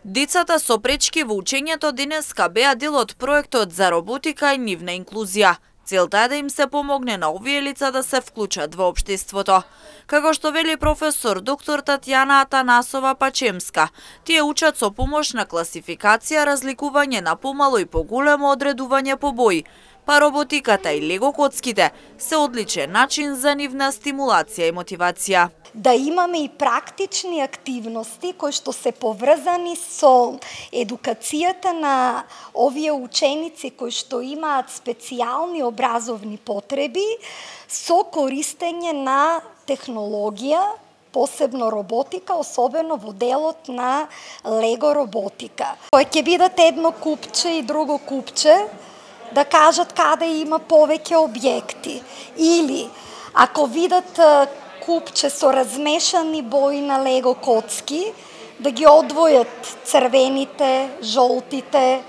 Децата со пречки во учењето денеска беа дел од проектот за роботика и нивна инклузија. Целта е да им се помогне на овие лица да се вклучат во општеството. Како што вели професор доктор Татјана Атанасова Пачемска, тие учат со помош на класификација, разликување на помало и поголемо одредување по бои, па роботиката и лего коцките се одличен начин за нивна стимулација и мотивација. Да имаме и практични активности кои што се поврзани со едукацијата на овие ученици кои што имаат специјални образовни потреби со користење на технологија, посебно роботика, особено во делот на лего роботика. Кој ќе бидат едно купче и друго купче, да кажат каде има повеќе објекти. Или, ако видат купче со размешани бои на лего коцки, да ги одвојат црвените, жолтите,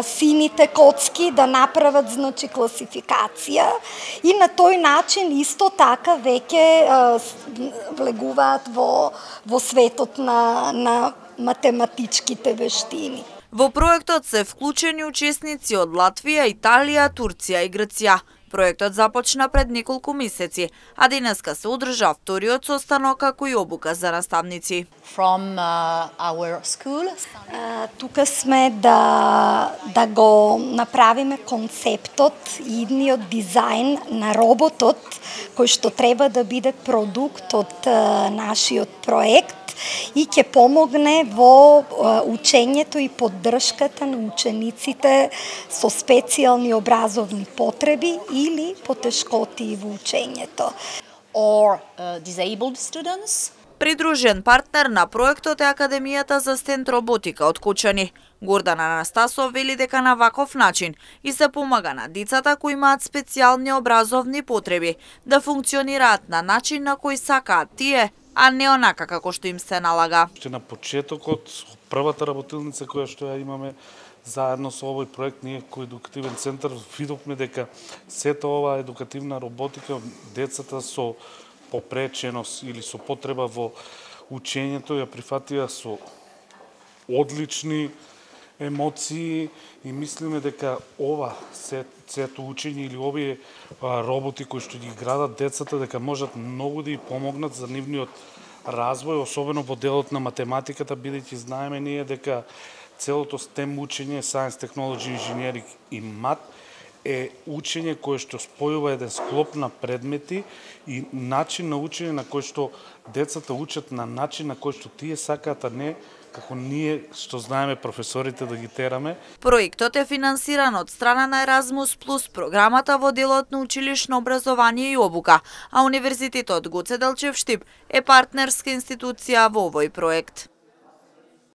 сините коцки, да направат значи класификација и на тој начин исто така веќе влегуваат во светот на математичките вештини. Во проектот се вклучени учесници од Латвија, Италија, Турција и Грција. Проектот започна пред неколку месеци, а денеска се одржа вториот состанок како и обука за наставници. Тука сме да го направиме концептот и идниот дизајн на роботот кој што треба да биде продукт од нашиот проект и ќе помогне во учењето и поддршката на учениците со специјални образовни потреби или потешкоти во учењето. Придружен партнер на проектот е Академијата за стенд роботика од Кочани. Гордан Анастасов вели дека на ваков начин и се помага на децата кои имаат специјални образовни потреби да функционираат на начин на кој сакаат тие, а не онака како што им се налага. На почетокот, првата работилница која што ја имаме заедно со овој проект, ние кој едукативен центар видовме дека сета ова едукативна роботика, децата со попреченост или со потреба во учењето ја прифатија со одлични емоции и мислиме дека ова сето учење или овие роботи кои што ги градат децата дека можат многу да ја помогнат за нивниот развој, особено во делот на математиката, бидејќи знаеме ние дека целото STEM учење, Science, Technology, Engineering и Math е учење кое што спојува еден склоп на предмети и начин на учење на кој што децата учат на начин на кој што тие сакаат, а не како ние што знаеме професорите да ги тераме. Проектот е финансиран од страна на Еразмус Плюс програмата во делот на училишно образование и обука, а Универзитетот Гоце Делчев Штип е партнерска институција во овој проект.